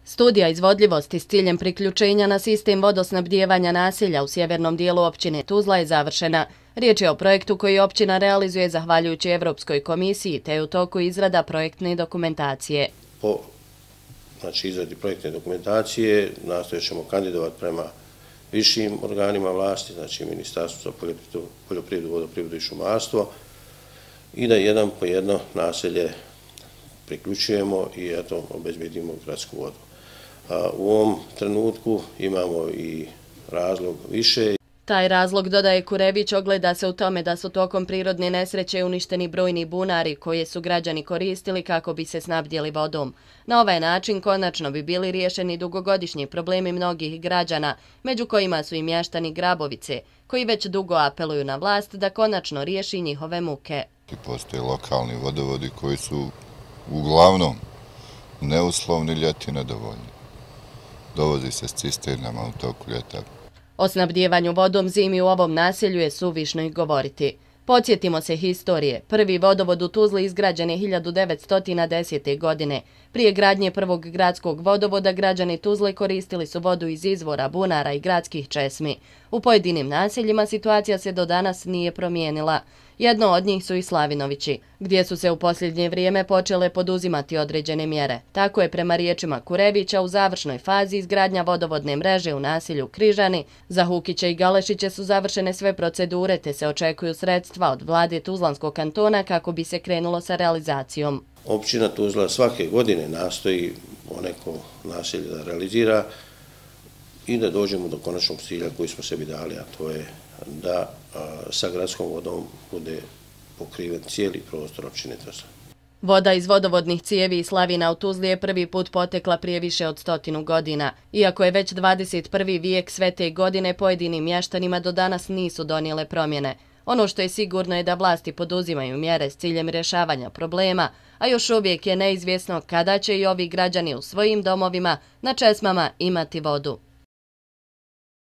Studija izvodljivosti s ciljem priključenja na sistem vodosnabdijevanja naselja u sjevernom dijelu općine Tuzla je završena. Riječ je o projektu koji općina realizuje zahvaljujući Evropskoj komisiji, te je u toku izrada projektne dokumentacije. Po izradi projektne dokumentacije nastojat ćemo kandidovati prema višim organima vlasti, znači Ministarstvo za poljoprivredu, vodoprivredu i šumarstvo, i da jedan po jedno naselje priključujemo i eto obezbedimo gradsku vodu. U ovom trenutku imamo i razlog više. Taj razlog, dodaje Kurević, ogleda se u tome da su tokom prirodne nesreće uništeni brojni bunari koje su građani koristili kako bi se snabdjeli vodom. Na ovaj način konačno bi bili riješeni dugogodišnji problemi mnogih građana, među kojima su i mještani Grabovice, koji već dugo apeluju na vlast da konačno riješi njihove muke. Postoje lokalni vodovodi koji su uglavnom neuslovni, ljeti nedovoljni. Dovozi se s cisternama u toku ljeta. O snabdijevanju vodom zimi u ovom naselju je suvišno i govoriti. Podsjetimo se historije. Prvi vodovod u Tuzli izgrađen je 1910. godine. Prije gradnje prvog gradskog vodovoda građani Tuzle koristili su vodu iz izvora, bunara i gradskih česmi. U pojedinim naseljima situacija se do danas nije promijenila. Jedno od njih su i Slavinovići, gdje su se u posljednje vrijeme počele poduzimati određene mjere. Tako je prema riječima Kurevića u završnoj fazi izgradnja vodovodne mreže u naselju Križani. Za Hukiće i Galešiće su završene sve procedure te se očekuju sredstva od vlade Tuzlanskog kantona kako bi se krenulo sa realizacijom. Općina Tuzla svake godine nastoji poneko naselje da realizira i da dođemo do konačnog cilja koji smo sebi dali, a to je da sa gradskom vodom bude pokriven cijeli prostor općine Tuzla. Voda iz vodovodnih cijevi i slavina u Tuzli je prvi put potekla prije više od 100 godina. Iako je već 21. vijek, sve te godine pojedinim mještanima do danas nisu donijele promjene. Ono što je sigurno je da vlasti poduzimaju mjere s ciljem rješavanja problema, a još uvijek je neizvjesno kada će i ovi građani u svojim domovima na česmama imati vodu.